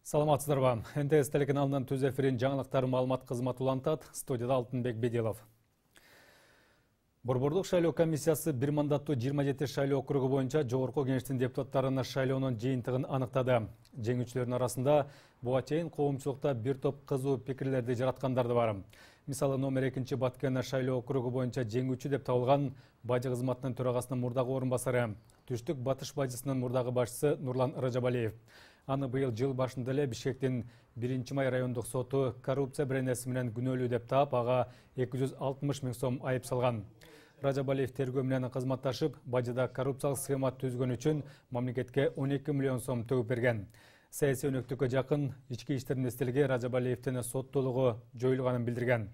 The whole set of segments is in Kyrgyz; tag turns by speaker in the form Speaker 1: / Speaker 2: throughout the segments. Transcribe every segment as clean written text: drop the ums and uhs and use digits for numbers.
Speaker 1: Саламатсыздарбы. НТС телеканалынын түз эфирин жаңылыктар маалымат кызматы улантат. Студияда Алтынбек Бедилов. Борбордук шайлоо комиссиясы бир мандаттуу 27 шайлоо округу боюнча жогорку кеңештин депутаттарына шайлоонун жыйынтыгын аныктады. Жеңүүчүлөрдүн арасында буга чейин коомчулукта бир топ кызуу пикирлерди жараткандар да бар. Мисалы, номер 2 Баткен шайлоо округу боюнча жеңүүчү деп табылган бажы кызматынын төрагасынын мурдагы орун басары, Түштүк Батыш бажысынын мурдагы башчысы Нурлан Ражабалиев. Аны быйыл жыл башында эле Бишкектин 1-май райондук соту коррупция беренеси менен күнөөлүү деп таап, ага 260 000 сом айып салган. Ражабалиев тергөө менен кызматташып, бажыда коррупциялык схема түзгөн үчүн мамлекетке 12 миллион сом төгүп берген. Саясий өнөктүккө жакын ички иштер министрлиги Ражабалиевдин соттуулугу жоюлганын билдирген.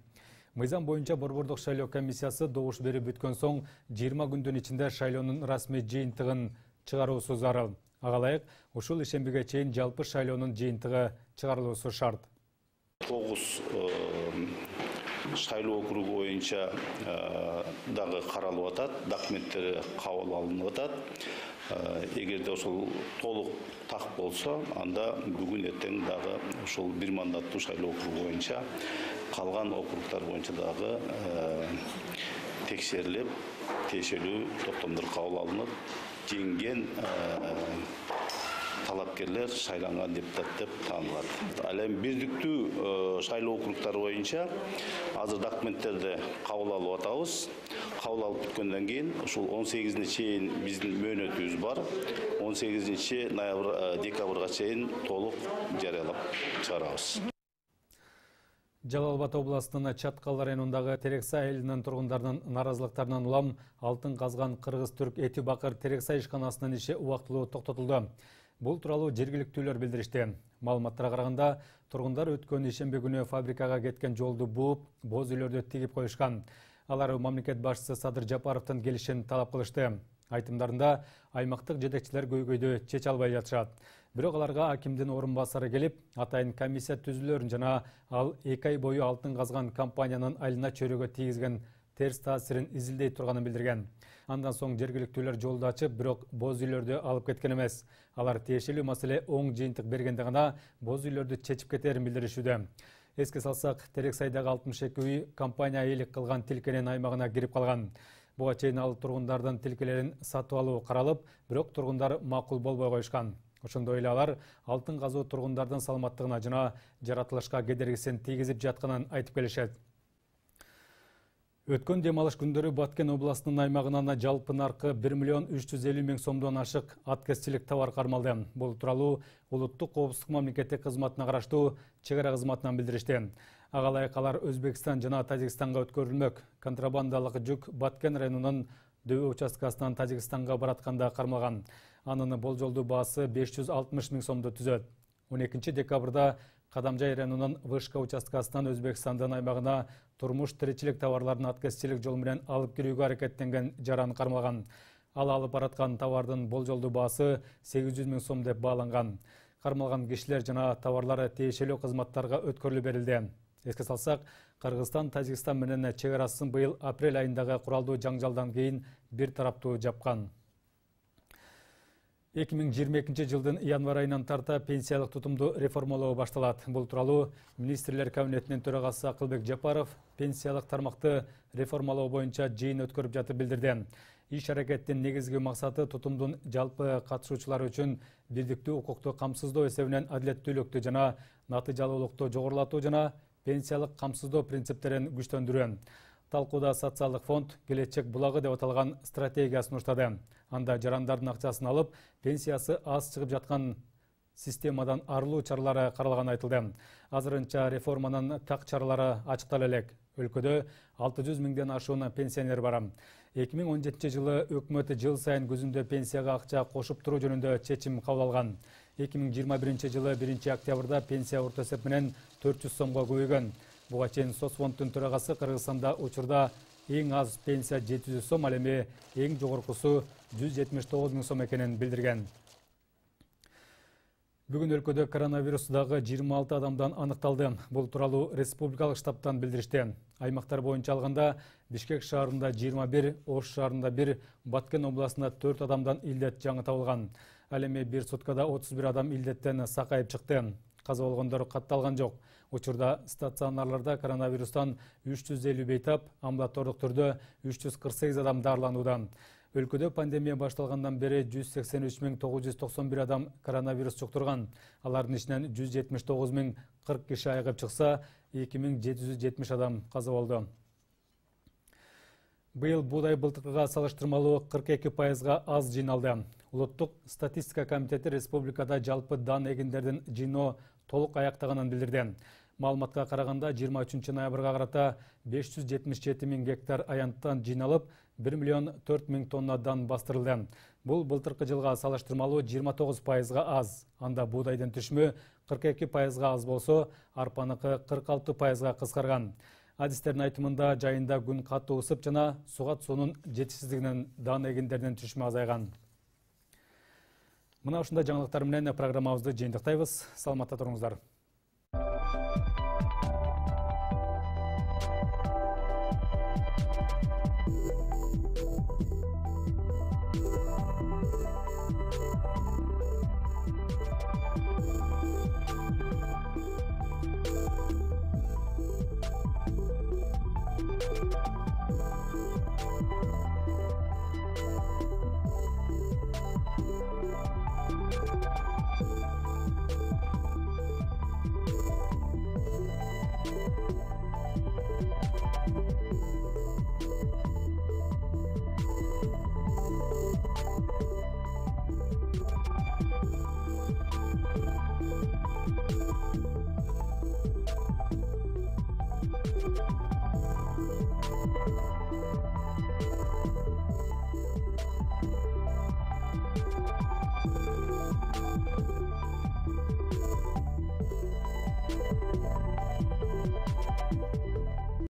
Speaker 1: Мыйзам боюнча борбордук шайлоо комиссиясы добуш берип бүткөн соң 20 күндүн ичинде шайлоонун расмий жыйынтыгын чыгаруусу зарыл. Ага ылайык, ушул ишембиге чейин жалпы шайлоонун жыйынтыгы чыгарылуусу шарт.
Speaker 2: 9 шайлоо округу боюнча дагы каралып атат, документтери кабыл алынып атат. Эгерде ошол толук так болсо, анда бүгүн эртең дагы ушул бир мандаттуу шайлоо округу боюнча калган округдар боюнча дагы текшерилип, тиешелүү токтомдор кабыл алынып, жеңген талапкерлер шайланган депутат деп таанылат. Ал эми бирдиктүү шайлоо округдары боюнча азыр документтерди кабыл алып атабыз. Кабыл алып бүткөндөн кийин ушул 18-ине чейин биздин мөөнөтүбүз бар. 18 декабрга чейин толук жарыялап чыгарабыз.
Speaker 1: Жалал Абад областынын Чаткал районундагы Терексай айылынын тургундарынын наразылыктарынан улам алтын казган кыргыз-түрк эти бакыр Терексай ишканасынын иши убактылуу токтотулду. Бул тууралуу жергиликтүүлөр билдиришти. Маалыматтарга караганда, тургундар өткөн ишемби күнү фабрикага кеткен жолду бууп, боз үйлөрдү тигип коюшкан. Алар мамлекет башчысы Садыр Жапаровдун келишин талап кылышты. Айтымдарында аймактык жетекчилер көйгөйдү чече албай жатышат. Бирок аларга акимдин орун басары келип, атайын комиссия түзүлөрүн жана ал 2 ай бою алтын казган компаниянын айылына чөйрөгө тийгизген терс таасирин изилдей турганын билдирген. Андан соң жергиликтүүлөр жолду ачып, бирок боз үйлөрдү алып кеткен эмес. Алар тиешелүү маселе оң жыйынтык бергенде гана боз үйлөрдү чечип кетерин билдиришүүдө. Эске салсак, Терексайдагы 62 үй компания ыйлык кылган тилкенин аймагына кирип калган. Буга чейин ал тургундардын тилкелерин сатып алуу каралып, бирок тургундар макул болбой коюшкан. Ошондой эле алар алтын казуу тургундардын саламаттыгына жана жаратылышка кедергисин тийгизип жатканын айтып келишет. Өткөн дем алыш күндөрү Баткен областынын аймагынан жалпы наркы 1 миллион 350 000 сомдон ашык аткезчилик товар кармалды. Бул тууралуу улуттук коопсуздук мамлекеттик кызматына караштуу чек ара кызматынан билдиришти. Ага ылайык алар Өзбекстан жана Тажикстанга өткөрүлмөк. Контрабандалык жүк Баткен районунун Дөбө участкасынан Тажикстанга баратканда кармалган. Анын болжолдуу баасы 560 000 сомду түзөт. 12 декабрда Кадамжай районунун Вышка участкасынан Өзбекстандын аймагына турмуш тиричилик товарларын аткезчилик жол менен алып кирүүгө аракеттенген жаран кармалган. Ал алып бараткан товардын болжолдуу баасы 800 000 сом деп бааланган. Кармалган кишилер жана товарлары тиешелүү кызматтарга өткөрүлүп берилди. Эске салсак, Кыргызстан Тажикстан менен чек арасын быйыл апрель айындагы куралдуу жаңжалдан кийин бир тараптуу жапкан. 2022 жылдын январь айынан тарта пенсиялык тутумду реформалоо башталат. Бул тууралуу министрлер кабинетинин төрагасы Акылбек Жапаров пенсиялык тармакты реформалоо боюнча жыйын өткөрүп жатып билдирди. Иш аракеттин негизги максаты тутумдун жалпы катышуучулары үчүн бирдиктүү укукту камсыздоо эсебинен адилеттүүлүктү жана натыйжалуулукту жогорулатуу жана пенсиялык камсыздоо принциптерин күчтөндүрүү. Талкууда социалдык фонд келечек булагы деп аталган стратегия сунуштады. Анда жарандардын акчасын алып, пенсиясы аз чыгып жаткан системадан арылуу чаралары каралганы айтылды. Азырынча реформанын так чаралары ачыктала элек. Өлкөдө 600 000ден ашуун пенсионер бар. 2017 жылы өкмөт жыл сайын күзүндө пенсияга акча кошуп туруу жөнүндө чечим кабыл алган. 2021 жылы 1 октябрда пенсия орто эсеп менен 400 сомго көбөйгөн. Буга чейин Соцфонддун төрагасы Кыргызстанда учурда эң аз пенсия 700 сом, ал эми эң жогоркусу 179 000 сом экенин билдирген. Бүгүн өлкөдө коронавирусдагы 26 адамдан аныкталды. Бул тууралуу республикалык штабтан билдиришти. Аймактар боюнча алганда Бишкек шаарында 21, Ош шаарында 1, Баткен областында 4 адамдан илдет жаңы табылган. Ал эми бир суткада 31 адам илдеттен сакайып чыкты. Каза болгондор катталган жок. Учурда стационарларда коронавирустан 350 бейтап, амбулатордук түрдө 348 адам дарыланууда. Өлкөдө пандемия башталгандан бери 183.991 адам коронавирус жуктурган. Алардын ичинен 179.040 киши айыгып чыкса, 2.770 адам каза болду. Быйыл буудай былтыркыга салыштырмалуу 42%га аз жыйналды. Улуттук статистика комитети республикада жалпы дан эгиндердин жыйноо толук аяктаганын билдирди. Маалыматка караганда 23 ноябрга карата 577.000 гектар аянттан жыйналып, 1.004.000 тонна дан бастырылды. Бул былтыркы жылга салыштырмалуу 29%га аз. Анда буудайдын түшүмү 42%га аз болсо, арпаныкы 46%га кыскарган. Адистердин айтымында жайында күн катуу ысып жана сугат суунун жетишсиздигинен дан эгиндердин түшүмү азайган. Мына ушундай жаңылыктар менен программабызды жыйынтыктайбыз. Саламатта туруңуздар.